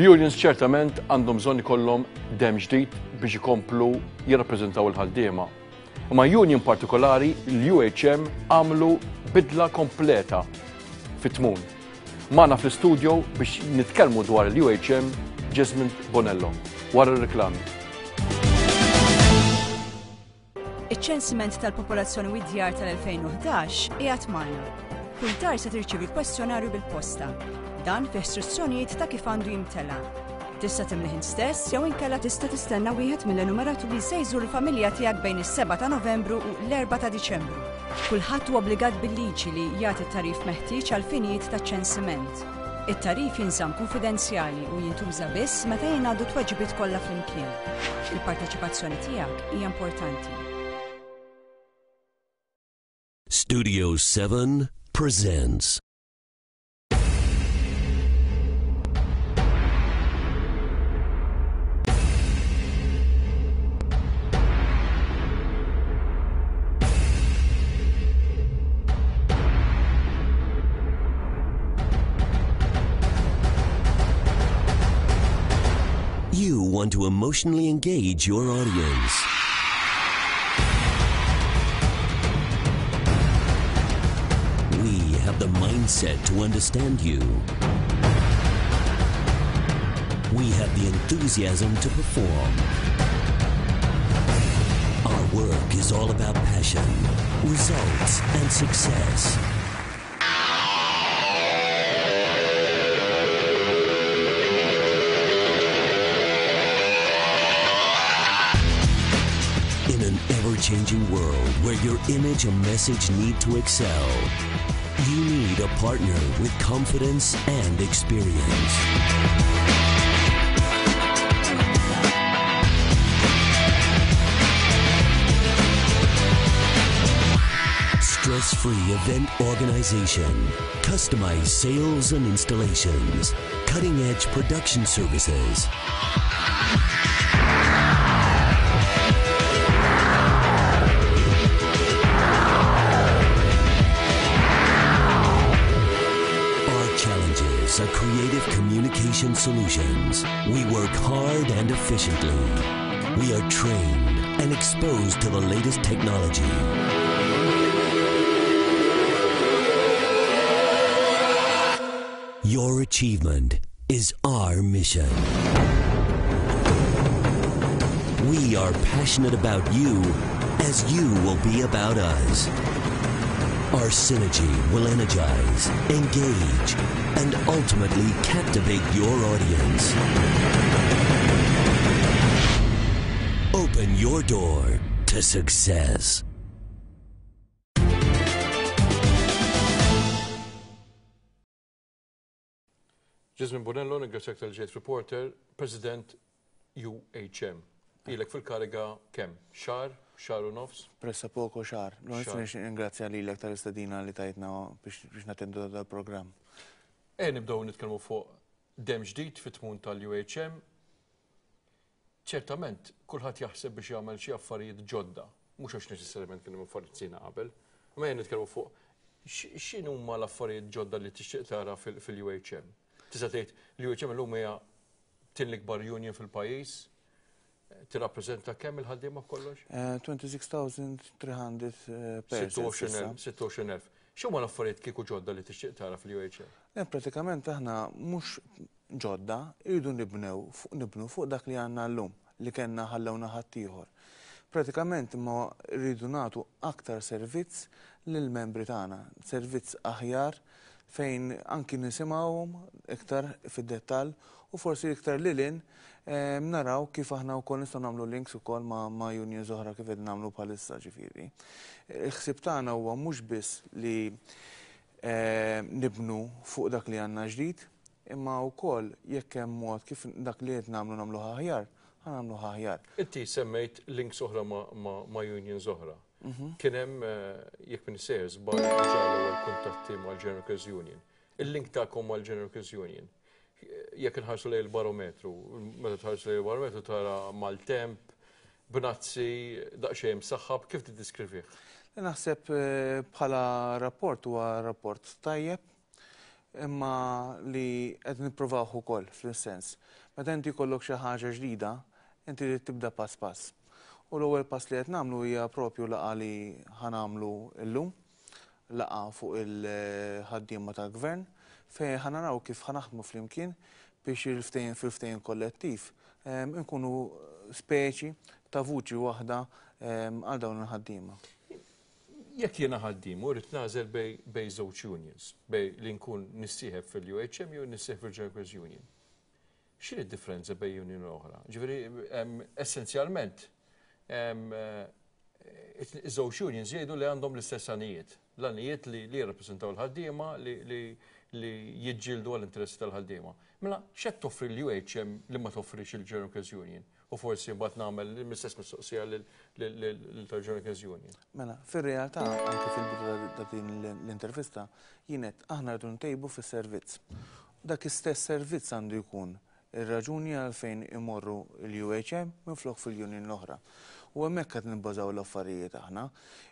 Il-unions ċertament għandhom bżonn ikollhom demm ġdid biex ikomplu jirrappreżentaw il-ħaddiema. Imma union partikolari, l-UHM, għamlu bidla kompleta fit-tmun. Magħna fl-istudio biex nitkellmu dwar l-UHM Jesmond Bonello wara r-reklami. Iċ-ċensiment tal-popolazzjoni u d-djar tal-2011 qiegħed magħna. Kull dar se tirċievi kwestjonarju bil-posta. Dan fih istruzzjonijiet ta' kif għandu jimtela. Tista' timlih int stess jew inkella tista' tistenna wieħed mill-enumeraturi se jżur il-familja tiegħek bejn is-7 ta' Novembru u l-4 ta' Diċembru. Kulħadd huwa obbligat bil-liġi li jagħti t-tagħrif meħtieġ għall-finijiet taċ-ċensiment. It-tagħrif jinżamm kunfidenzjali u jintuża biss meta jingħaddu t-tweġibiet kollha flimkien. Il-parteċipazzjoni tiegħek hija importanti. Studio 7 presents. You want to emotionally engage your audience. We have the mindset to understand you. We have the enthusiasm to perform. Our work is all about passion, results, and success. In an ever-changing world where your image and message need to excel, you need a partner with confidence and experience. Stress-free event organization, customized sales and installations, cutting-edge production services. Our challenges are creative communication solutions. We work hard and efficiently. We are trained and exposed to the latest technology. Your achievement is our mission. We are passionate about you as you will be about us. Our synergy will energize, engage, and ultimately captivate your audience. Open your door to success. Jesmond Bonello, ningrazzjak tal-ġejt reporter, President UHM. Ilek fil-kariga kemm? Xahar? Xahar u nofs? Pressappoco xahar. Ningrazzja lilek tal-istedina li tajtna biex nattendu dal-programm. E nibdew nitkellmu fuq demm ġdid fit-tmun tal-UHM. Ċertament, kulħadd jaħseb biex jagħmel xi affarijiet ġodda, mhux għax neċessarjament kienu affarijiet sina qabel, imma jien nitkellmu fuq x'inhuma l-affarijiet ġodda li tixtieq tara fil-UHM. Tista' tgħid l-UHM illum hija tin l-ikbar union fil-pajjiż, tirrappreżenta kemm il-ħaddiema b'kollox? 26,300 eh, persons. 26,000. X'huma l-affarijiet kieku ġodda li tixtieq tara fil-UHM? Eh, pratikament aħna mhux ġodda, irridu nibnew nibnu fuq dak li għandna llum, li kellna ħallewna ħaddieħor. Pratikament imma rridu nagħtu aktar servizz lill-membri tagħna, servizz aħjar fejn anki nisimgħuhom iktar fid-dettall u forsi iktar lil hinn naraw kif aħna wkoll nistgħu nagħmlu links ukoll ma' unions oħra kif qed nagħmlu bħalissa ġifieri. Il-ħsieb tagħna huwa mhux biss li nibnu fuq dak li għandna ġdid, Imma wkoll jekk hemm mod kif dak li qed nagħmlu nagħmluh aħjar, ħa nagħmluh aħjar. Inti semmejt links oħra ma' unions oħra. Mhm. Kien hemm eh, jekk minn sejjer żball diġà l-ewwel kuntatti mal-General Workers Union. Il-link tagħkom mal-General Workers Union. Jekk inħarsu lejn il-barometru, meta tħarsu lejn il-barometru tara maltemp, bnazzi, daqsxejn msaħħab, kif tiddiskrivih? Naħseb eh, bħala rapport huwa rapport tajjeb. Imma li qed nippruvawh ukoll fl-sens. Meta inti jkollok xi ħaġa ġdida, inti trid tibda pass pass. U l-ewwel pass li qed nagħmlu hija propju laqgħa li ħa nagħmlu llum, laqgħa fuq il-ħaddiema tal-gvern, fejn ħa naraw kif ħa naħdmu flimkien biex il-ftehim fil-ftehim kollettiv nkunu speċi ta' vuċi waħda għal dawn il-ħaddiema. Jekk jiena ħaddiem u rrid nagħżel bejn żewġ unions, bejn li nkun nissieħeb fil-UHM jew nissieħeb fil-General Workers Union. X'inhi d-differenza bejn union u oħra? Ġifieri essenzjalment iż-żewġ unions jgħidu li għandhom l-istess għanijiet. L-għanijiet li jirrappreżentaw il-ħaddiema li jiġġieldu għall-interessi tal-ħaddiema. Mela, x'qed toffri l-UHM li ma toffrix il-General Workers Union? U forsi mbagħad nagħmel l-istess mistoqsija lil tal-General Workers Union. Mela, fir-realtà, anke fil-bidu ta' din l-intervista, jien għedt aħna rridu ntejbu fis-servizz. Dak istess servizz għandu jkun ir-raġuni għalfejn imorru l-UHM minflok fil-union l-oħra. U hemmhekk qed nibbażaw l-affarijiet aħna.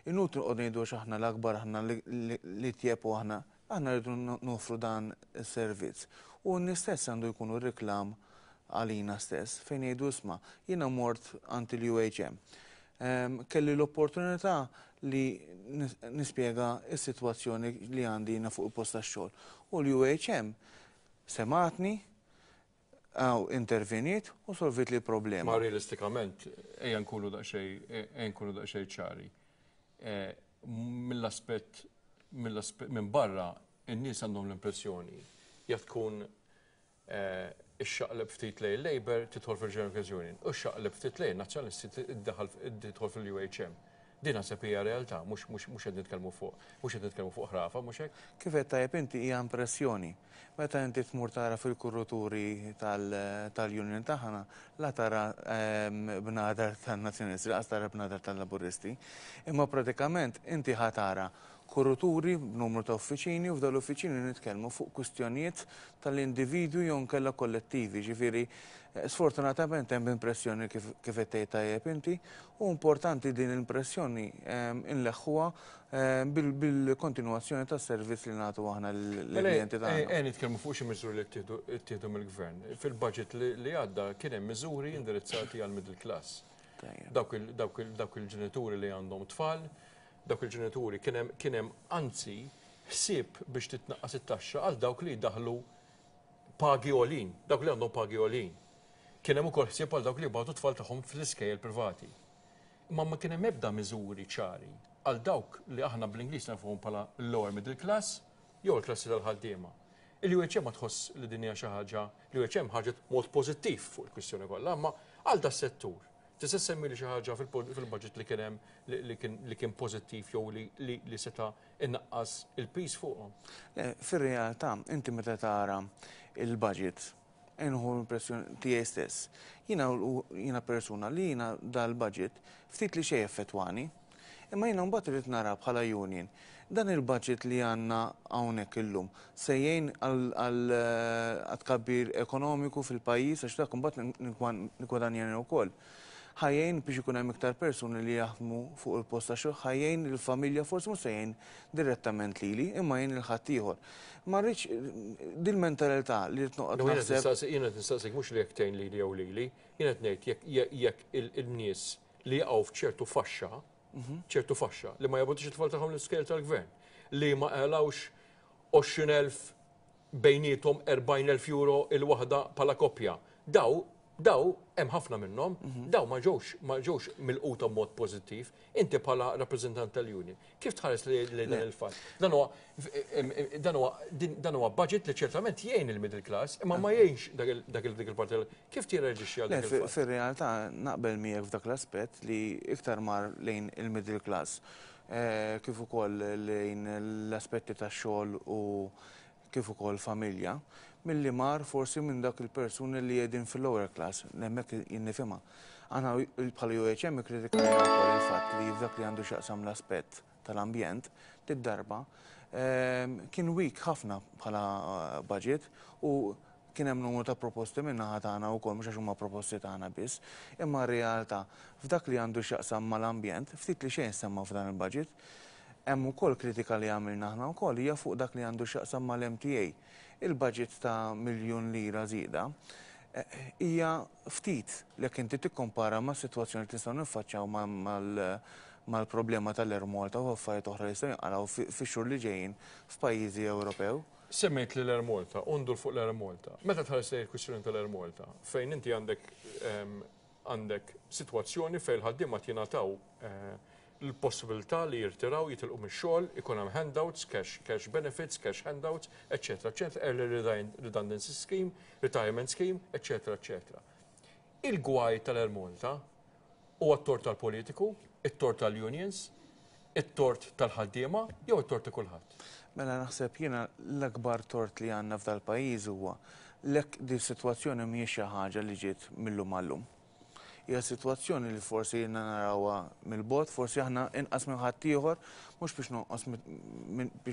Inutli noqogħdu ngħidu għax aħna l-akbar, aħna l-itjeb u aħna. Aħna rridu noffru dan is-servizz. U n-nies stess għandu jkunu reklam għalina stess fejn jgħidu isma' jiena mort għand il-UHM. Kelli l-opportunità li nispjega s-sitwazzjoni li għandi jiena fuq il-post tax-xogħol. U l-UHM semgħetni, interveniet u solvit li l-problema. Ma realistikament, ejja nkunu daqsxejn ejja nkunu daqsxejn ċari. Mill-aspett minn barra in-nies għandhom l-impressjoni jekk tkun ixxaqleb ftit lejn Labour tidħol fil-General Workers Union u xxaqleb ftit lejn Nazzjonalisti tidħol fil-UHM. Din naħseb hija realtà, mhux qed nitkellmu fuq mhux qed nitkellmu fuq ħrafa, mhux hekk? Kif għedt tajjeb inti hija impressjoni. Meta inti tmur tara fil-kurruturi tal-union tagħna, la tara bnadar tan-Nazzjonalisti, lanqas tara bnadar tal-Laburisti. Imma pratikament inti ħa tara kurruturi b'numru ta' uffiċini u f'dawn l-uffiċini nitkellmu fuq kwistjonijiet tal-individwi jew inkella kollettivi. Ġifieri, sfortunatament hemm impressjoni kif qed tgħid tajjeb inti, u importanti din l-impressjoni inleħħuha bil-kontinwazzjoni tas-servizz li nagħtu aħna lill-klijenti tagħna. Ejja nitkellmu fuq xi miżuri li ttieħdu mill-Gvern. Fil-budget li għadda kien hemm miżuri indirizzati għall-middle class. Dawk il-ġenituri li għandhom tfal, dawk il-ġenituri kien hemm anzi ħsieb biex titnaqqas it-taxxa għal dawk li jdaħħlu pagi għolin, dawk li għandhom pagi għolin. Kien hemm ukoll ħsieb għal dawk li jibgħatu tfal tagħhom fl-iskejjel privati. Imma ma kien hemm ebda miżuri ċari għal dawk li aħna bl-Ingliż nafuhom bħala lower middle class jew il-klassi tal-ħaddiema. Il-UHM ma tħoss li din hija xi ħaġa, l-UHM ħarġet mod pożittiv fuq il-kwistjoni kollha, imma għal das-settur. Tista' semmili xi ħaġa fil-budget li kien hemm li kien pożittiv jew li seta' innaqqas il-piż fuqhom? Fir-realtà, inti meta tara il-budget, nieħu l-impressjoni tiegħi stess. Jiena jiena persuna li jiena dal-budget ftit li xejn effettwani. Imma jiena mbagħad irid nara bħala union. Dan il-budget li għandna hawnhekk illum se jgħin għal tkabbir ekonomiku fil-pajjiż għax dak imbagħad niggwadanjani wkoll. Ħa jgħin biex ikun hemm iktar persuni li jaħdmu fuq il-post tax-xogħol, ħa jgħin lill-familja, forsi mhux se jgħin direttament lili, imma jgħin lil ħaddieħor. Ma rridx dil-mentalità li rrid noqgħod naħseb. Jiena qed nistaqsik mhux li jekk tgħin lili jew lili, jiena qed ngħid jekk il-nies li jaqgħu f'ċertu faxxa, ċertu faxxa li ma jagħbutux it-tfal tagħhom l-iskejjel tal-gvern, li ma qalgħux 20,000 bejniethom 40,000 euro il-waħda bħala koppja. Daw, daw hemm ħafna minnhom, daw ma ġewx ma ġewx milquta b'mod pożittiv. Inti bħala rappreżentant tal-union, kif tħares li dan il-fatt? Dan huwa dan huwa dan huwa budget li ċertament jgħin il-middle class, imma ma jgħinx dak dik il-parti. Kif tirreaġixxi għal dak il-fatt? Fir-realtà naqbel miegħek f'dak l-aspett li iktar mar lejn il-middle class kif ukoll lejn l-aspetti tax-xogħol u kif ukoll familja, milli mar forsi minn dak il-persuni li qegħdin fil-lower class, hemmhekk jien nifhimha. Aħna bħala UHM ikkritikajna wkoll il-fatt li f'dak li għandu x'jaqsam l-aspett tal-ambjent, did-darba kien weak ħafna bħala budget u kien hemm numru ta' proposti min-naħa tagħna wkoll mhux għax huma proposti tagħna biss, imma r-realtà f'dak li għandu x'jaqsam mal-ambjent ftit li xejn semma f'dan il-budget. Hemm ukoll kritika li għamilna aħna wkoll hija fuq dak li għandu x'jaqsam mal-MTA. Il-budget ta' miljun lira żieda hija ftit jekk inti tikkompara mas-sitwazzjoni li nistgħu niffaċċjaw mal-problema tal-Air Malta u affarijiet oħra li jistgħu jinqalgħu fix-xhur li ġejjin f'pajjiżi Ewropew. Semmejt lil Air Malta u ndur fuq l-Air Malta. Meta tħares lejn il-kwistjoni tal-Air Malta, fejn inti għandek għandek sitwazzjoni fejn il-ħaddiema qed jingħataw l-possibilità li jirtiraw, jitilqu mix-xogħol, ikun hemm handouts, cash, cash benefits, cash handouts, eċċetera, eċċetera, early redundancy scheme, retirement scheme, eċċetera, eċċetera. Il-gwaj tal-Air Malta huwa t-tort tal-politiku, it-tort tal-unions, it-tort tal-ħaddiema jew it-tort ta' kulħadd? Mela naħseb jiena l-akbar tort li għandna f'dal-pajjiż huwa lek di sitwazzjoni mhijiex xi ħaġa li ġiet mil-lum għal-lum. Hija sitwazzjoni li forsi ilna narawha mill-bogħod, forsi aħna inqas minn ħaddieħor, mhux biex nonqos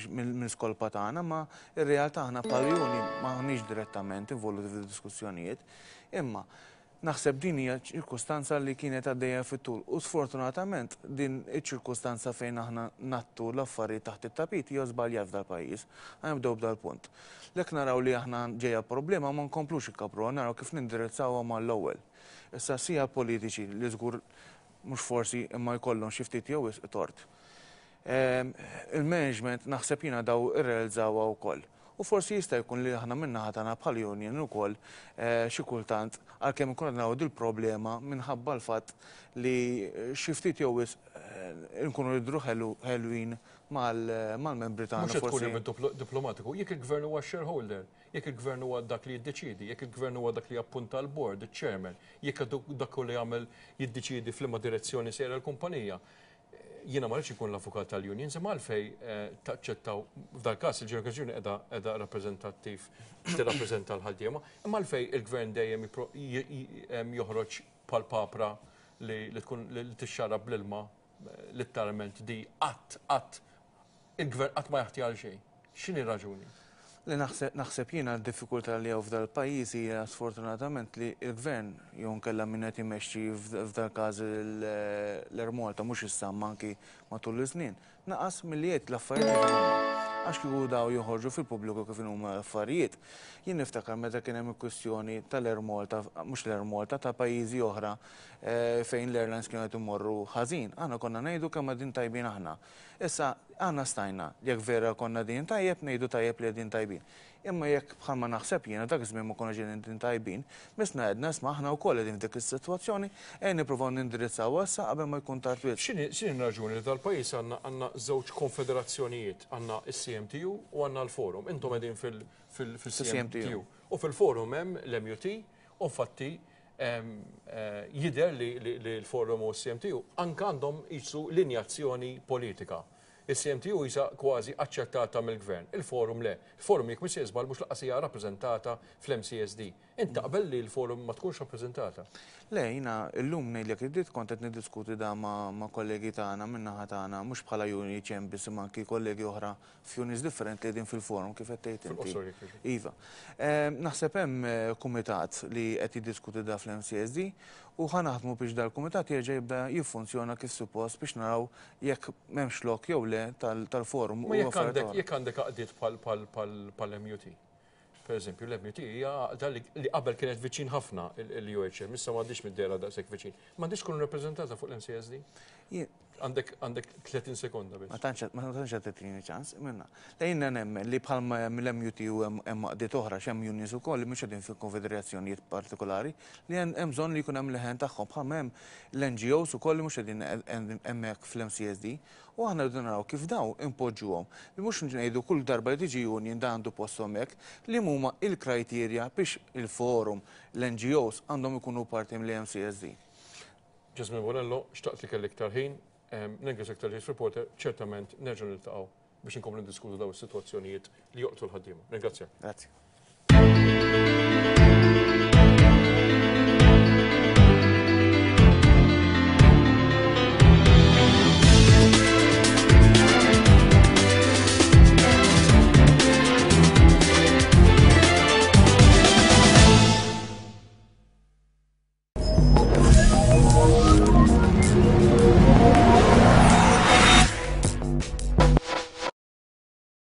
mill-skolpa tagħna, ma r-realtà aħna bħala union m'aħniex direttament involuti fid-diskussjonijiet. Imma naħseb din hija ċirkustanza li kienet għaddejja fit-tul u sfortunatament din iċ-ċirkustanza fejn aħna ngħattu l-affarijiet taħt it-tapit hija żbaljat f'dal-pajjiż. Ħa nibdew b'dal-punt. Lek naraw li aħna ġejja problema ma nkomplux ikkabruha, naraw kif nindirizzawha mal-ewwel. Issa sija politiċi li żgur mhux forsi imma jkollhom xi ftit jew wisq tort. Il-management naħseb jiena daw irrealizzawha wkoll. U forsi jista' jkun li aħna min-naħa tagħna bħal union ukoll xi kultant għalkemm inkunu qed naraw dil-problema minħabba l-fatt li xi ftit jew wisq inkunu nidhru ħelwin mal-membri tagħna. Mhux qed tkun even diplomatiku, jekk il-gvern huwa shareholder, jekk il-gvern huwa dak li jiddeċiedi, jekk il-gvern huwa dak li jappunta l-board, il-chairman, jekk dak li jagħmel jiddeċiedi f'liema direzzjoni sejra l-kumpanija. Jiena ma rridx ikun l-avukat tal-unions, imma għalfej taċċettaw f'dal każ il-General Union qiegħda rappreżentattiv tirrappreżenta l-ħaddiema, imma għalfej il-gvern dejjem joħroġ bħal papra li tkun li tixxarab bl-ilma letteralment di qatt qatt il-gvern qatt ma jaħti għal xejn. X'inhi raġuni? Li naħseb jiena d-diffikultà li hawn f'dal-pajjiż hija sfortunatament li l-gvern jew inkella min qed imexxi f'dal-każ l-Air Malta mhux issa imma anki matul iż-żmien, naqas milli jgħid l-affarijiet kif inhuma. Għax kieku daw joħorġu fil-pubbliku kif inhuma l-affarijiet. Jien niftakar meta kien hemm il-kwistjoni tal-Air Malta, mhux l-Air Malta, ta' pajjiżi oħra fejn l-airlines kienu qed imorru ħażin. Aħna konna ngħidu kemm qegħdin tajbin aħna. Issa, aħna stajna, jekk vera konna qegħdin tajjeb, ngħidu tajjeb li qegħdin tajbin. Imma jekk bħalma naħseb jiena dak iż-żmien ma konniex qegħdin tajbin, missna għedna isma' aħna wkoll qegħdin f'dik is-sitwazzjoni, ejja nippruvaw nindirizzawha issa qabel ma jkun tard wisq. X'inhi x'inhi r-raġuni li dal-pajjiż għandna għandna żewġ konfederazzjonijiet, għandna s-CMTU u għandna l-Forum. Intom qegħdin fil fil-CMTU. U fil-Forum hemm l-MUT u infatti jidher li l-Forum u s-CMTU anke għandhom qisu linjazzjoni politika. Il-CMTU qisha kważi aċċettata mill-Gvern, il-Forum le. Il-Forum jekk mhux se żball mhux lanqas hija rappreżentata fl-MCSD. Int taqbel li l-Forum ma tkunx rappreżentata? Le, jiena llum ngħidlek id-dritt kont qed niddiskuti dan ma' kollegi tagħna min-naħa tagħna mhux bħala UNHM biss imma anki kollegi oħra f'unions differenti li qegħdin fil-forum kif qed tgħid inti. Fil-qosor jekk jogħġbok. Iva. Naħseb hemm kumitat li qed jiddiskuti da fl-MCSD u ħa naħdmu biex dal-kumitat jerġa' jibda jiffunzjona kif suppost biex naraw jekk m'hemmx lok jew le tal-forum u jekk għandek jekk għandek għaqdiet bħal-MUT. Per eżempju, l-MUT hija għaqda li qabel kienet viċin ħafna l-UHM, issa m'għandix mid-dehra daqshekk viċin. M'għandix tkun rappreżentata fuq l-MCSD? Għandek għandek 30 sekonda biss. Ma tantx ma tantx qed tagħtini ċans, minna. Lejna nemmen li bħalma hemm l-MUT u hemm għaqdiet oħra x'hemm unions ukoll li mhux qegħdin fil-konfederazzjonijiet partikolari li hemm bżonn li jkun hemm leħen tagħhom bħalma hemm l-NGOs ukoll li mhux qegħdin hemmhekk fl-MCSD. U aħna rridu naraw kif dawn inpoġġuhom li mhux ngħidu kull darba li tiġi union dan għandu post hemmhekk, li huma il-criteria biex il-forum, l-NGOs għandhom ikunu parti mill-MCSD. Jasmine Bonello, xtaqt li kelli iktar ħin, nirringrazzjak talli ġejt Reporter, ċertament nerġgħu niltaqgħu biex inkomplu niddiskutu dawn is-sitwazzjonijiet li joqtlu l-ħaddiema. Ringrazzjak. Grazzi.